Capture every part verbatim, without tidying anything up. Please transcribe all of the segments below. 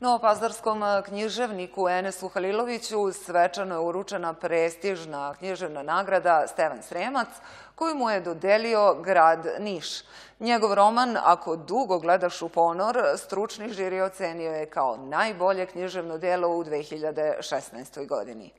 Novopazarskom književniku Enesu Haliloviću svečano je uručena prestižna književna nagrada Stevan Sremac, koju mu je dodelio grad Niš. Njegov roman "Ako dugo gledaš u ponor" stručni žiri ocenio je kao najbolje književno delo u dve hiljade šesnaestoj. godini.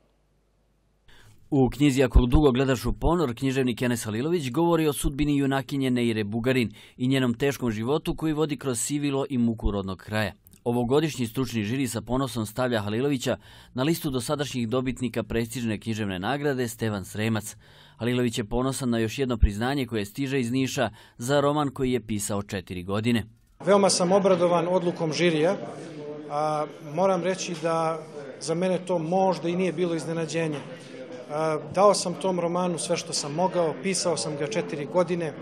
U knjizi "Ako dugo gledaš u ponor" književnik Enes Halilović govori o sudbini junakinje Neire Bugarin i njenom teškom životu koji vodi kroz sivilo i muku rodnog kraja. Ovogodišnji stručni žiri sa ponosom stavlja Halilovića na listu dosadašnjih dobitnika prestižne književne nagrade Stevan Sremac. Halilović je ponosan na još jedno priznanje koje stiže iz Niša za roman koji je pisao četiri godine. Veoma sam obradovan odlukom žirija, a moram reći da za mene to možda i nije bilo iznenađenje. Dao sam tom romanu sve što sam mogao, pisao sam ga četiri godine,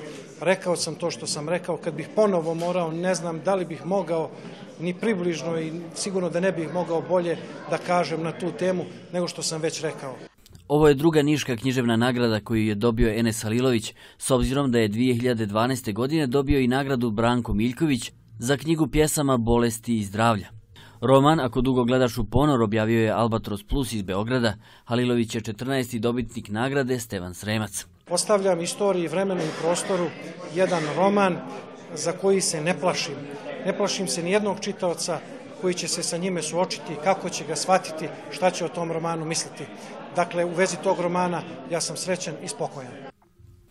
rekao sam to što sam rekao. Kad bih ponovo morao, ne znam da li bih mogao ni približno i sigurno da ne bih mogao bolje da kažem na tu temu nego što sam već rekao. Ovo je druga niška književna nagrada koju je dobio Enes Halilović, s obzirom da je dvije hiljade dvanaeste. godine dobio i nagradu Branko Miljković za knjigu pjesama "Bolesti i zdravlja". Roman "Ako dugo gledaš u ponor" objavio je Albatros Plus iz Beograda. Halilović je četrnaesti dobitnik nagrade Stevan Sremac. Ostavljam istoriji, vremenu i prostoru jedan roman za koji se ne plašim. Ne plašim se nijednog čitaoca koji će se sa njime suočiti, kako će ga shvatiti, šta će o tom romanu misliti. Dakle, u vezi tog romana ja sam srećan i spokojan.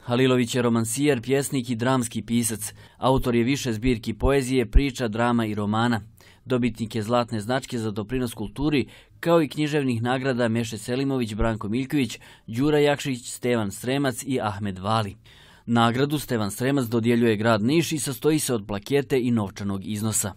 Halilović je romansijer, pjesnik i dramski pisac. Autor je više zbirki poezije, priča, drama i romana. Dobitnik je zlatne značke za doprinos kulturi, kao i književnih nagrada Meše Selimović, Branko Miljković, Đura Jakšić, Stevan Sremac i Ahmed Vali. Nagradu Stevan Sremac dodjeljuje grad Niš i sastoji se od plakete i novčanog iznosa.